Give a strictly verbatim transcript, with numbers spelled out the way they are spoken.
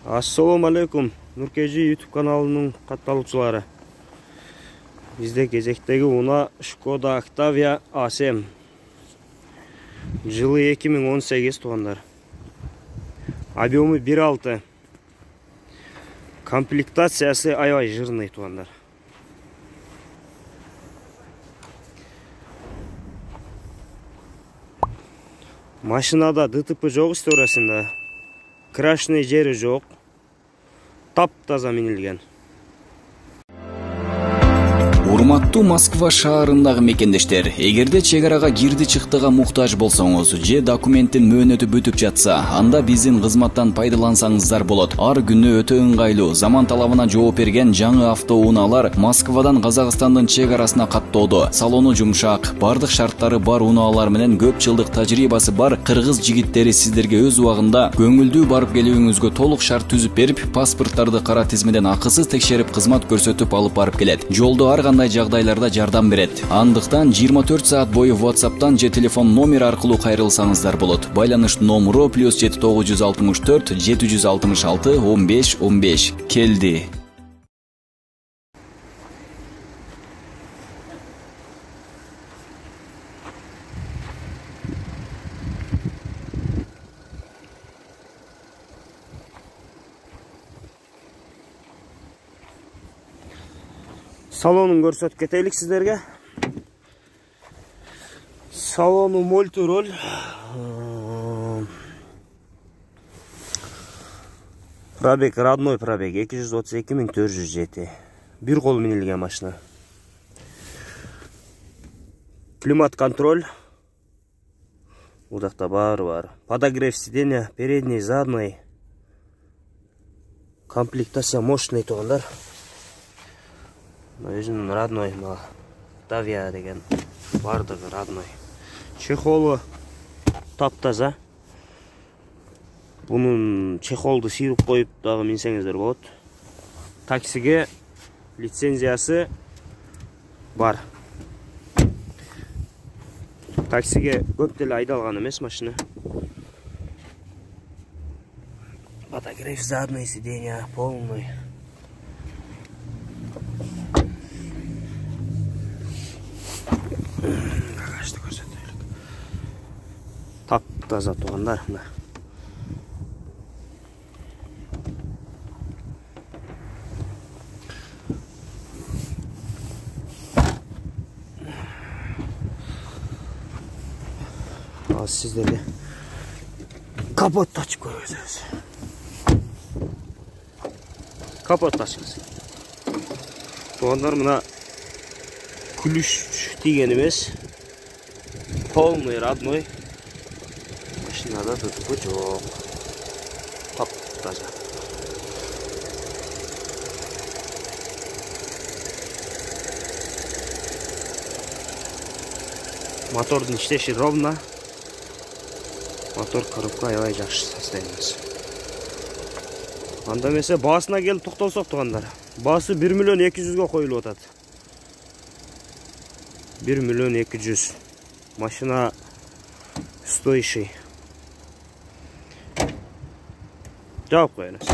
Ассаламу алейкум, Нуркежи YouTube каналынын катталуучулары. Бизде кезектеги уна Шкода Октавия А семь. Жылы эки миң он сегиз туугандар. Объему бир алты. Комплектациясы аябай жирный туугандар. Машинада ДТП жок историясында. Крашный жери жок. Таптаза минилген. Урматтуу Москва шаарындагы мекендештер, эгерде чек арага кирди чыктыга муктаж болсоңуз же документтин мөөнөтү бүтүп жатса, анда биздин кызматтан пайдалансаңыздар болот. Ар күнү өтө ыңгайлуу, заман талабына жооп берген жаңы автоунаалар Москвадан Казакстандын чек арасына каттоодо. Салону жумшак, бардык шарттары бар унаалар менен көп жылдык тажрыйбасы бар кыргыз жигиттери сиздерге өз убагында көңүлдүү барып келүүңүзгө толук шарт түзүп берип, паспорттарды кара тизмеден акысыз текшерип кызмат көрсөтүп алып барып келет. Жолдо ар кандай жагдайларда жардам берет. Андыктан жыйырма төрт саат бою WhatsApp'тан же телефон номер аркылуу кайрылсаңыздар болот. Байланыш номеру плюс жети тогуз жүз алтымыш төрт жети жүз алтымыш алты он беш он беш. Келди. Салонун көрсөтүп кетелик сиздерге. Салону мультироль. Пробег родной пробег эки жүз отуз эки миң төрт жүз жети. Бир кол минилген машина. Климат контроль. Удакта баары бар. Подогрев сиденья, передний, задний. Комплектация мощный туугандар. Өзүнүн родной Октавия деген бардыгы родной. Чехолу таптаза. Бунун чехолду сыйрып коюп дагы минсеңиздер болот. Таксиге лицензиясы бар. Таксиге көп деле айдалган эмес машина. Подогрев задний сиденья полный. Багажды көрсөтөлүк. Таптаза туугандар. Ал сиздерге капотты ачып көрсөтөбүз. Капотты ачыңыз. Туугандар, мына ключ тийген эмес. Полный родной. Машинада ДТП жок. Таптаза. Мотордун иштеши ровно. Мотор коробка аябай жакшы состояниясы. Анда эмесе баасына келип токтолсок туугандар. Баасы бир миллион эки жүзгө коюлуп атат. бир миллион эки жүз. Машина стоящий. Жауап коелуз.